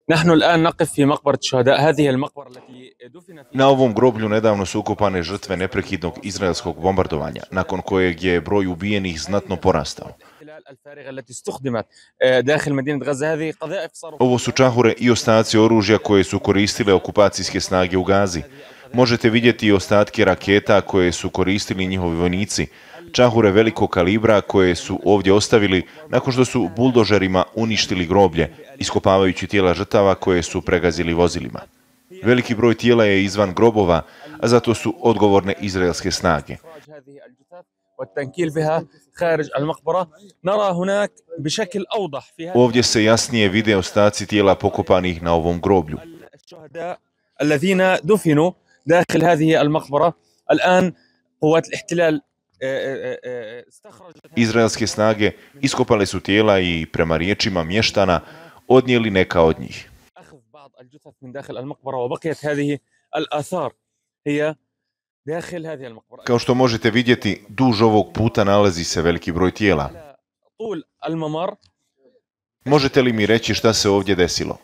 نحن الآن نقف في مقبرة الشهداء. هذه المقبرة التي دفن فيها. Na ovom groblju nedavno su ukopane žrtve neprekidnog izraelskog bombardovanja, nakon kojeg je broj ubijenih znatno porastao. Ovo su čahure i ostaci oružja koje su koristile okupacijske snage u Gazi. Možete vidjeti i ostatke raketa koje su koristili njihovi vojnici, čahure velikog kalibra koje su ovdje ostavili nakon što su buldožerima uništili groblje, iskopavajući tijela žrtava koje su pregazili vozilima. Veliki broj tijela je izvan grobova, a zato su odgovorne izraelske snage. Ovdje se jasnije vide ostaci tijela pokopanih na ovom groblju. Izraelske snage iskopale su tijela i, prema riječima mještana, odnijeli neka od njih. Kao što možete vidjeti, duž ovog puta nalazi se veliki broj tijela. Možete li mi reći šta se ovdje desilo?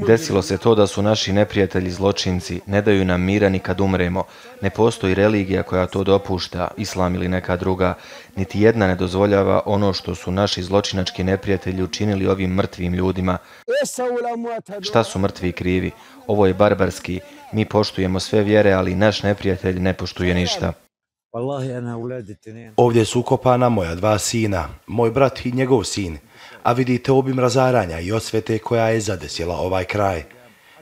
Desilo se to da su naši neprijatelji zločinci, ne daju nam mira ni kad umremo. Ne postoji religija koja to dopušta, islam ili neka druga. Niti jedna ne dozvoljava ono što su naši zločinački neprijatelji učinili ovim mrtvim ljudima. Šta su mrtvi krivi? Ovo je barbarski. Mi poštujemo sve vjere, ali naš neprijatelj ne poštuje ništa. Ovdje su ukopana moja dva sina, moj brat i njegov sin, a vidite obim razaranja i osvete koja je zadesila ovaj kraj.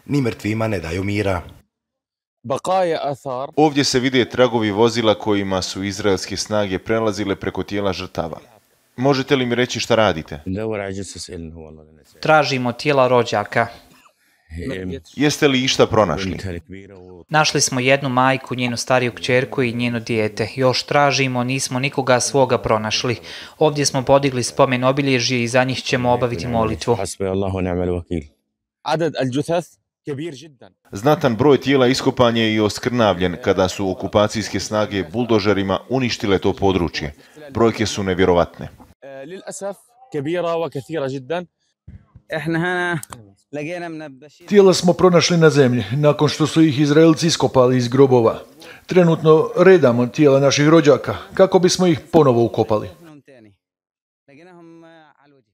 Ni mrtvima ne daju mira. Ovdje se vide tragovi vozila kojima su izraelske snage prelazile preko tijela žrtava. Možete li mi reći šta radite? Tražimo tijela rođaka. Jeste li išta pronašli? Našli smo jednu majku, njenu stariju kćerku i njeno dijete. Još tražimo, nismo nikoga svoga pronašli. Ovdje smo podigli spomen obilježje i za njih ćemo obaviti molitvu. Znatan broj tijela iskopan je i oskrnavljen kada su okupacijske snage buldožerima uništile to područje. Brojke su nevjerovatne. Tijela smo pronašli na zemlji, nakon što su ih Izraelci iskopali iz grobova. Trenutno redamo tijela naših rođaka, kako bismo ih ponovo ukopali.